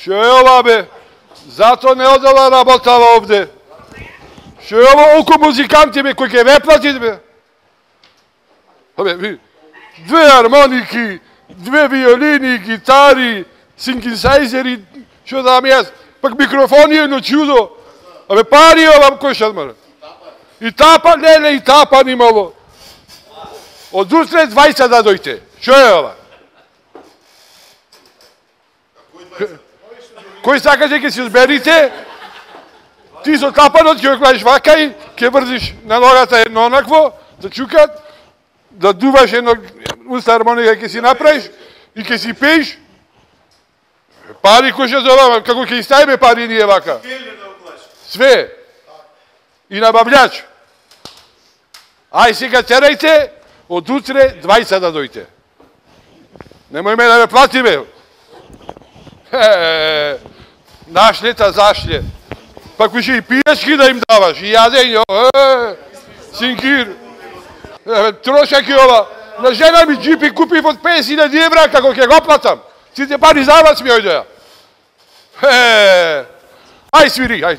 Што е ова, бе? Зато не одела работава овде. Што е ова око музиканти, бе, кој ќе ве платит, бе? Абе, две армоники, две виолини, гитари, синтезайзери, што дам јас, пак микрофони едно чудо. Абе, пари ова, кој што мора? И тапа, не, и тапа nimalo. Од утре 20 да дојте. Што е ова? Кој сакате ќе се зберите? Ти со тапанот ќе оклаиш вака и ќе врзиш на ногата едно онакво, да чукат, да дуваш едно уста хармоника ќе си направиш и ќе си пееш. Пари кој што зовава, како ќе истајме пари ние вака? Све. И набављач. Ај сега терајте, од утре 20 да дојте. Немој ме да ме плати, бе. Нашлета зашле. Пак више и пијачки да им даваш, и јадење, синкир. Трошак и ова. На жена ми джипи купив од 50.000 евра, како ќе го платам. Сите пари за вас ми ојдеа. Ај свири, ај.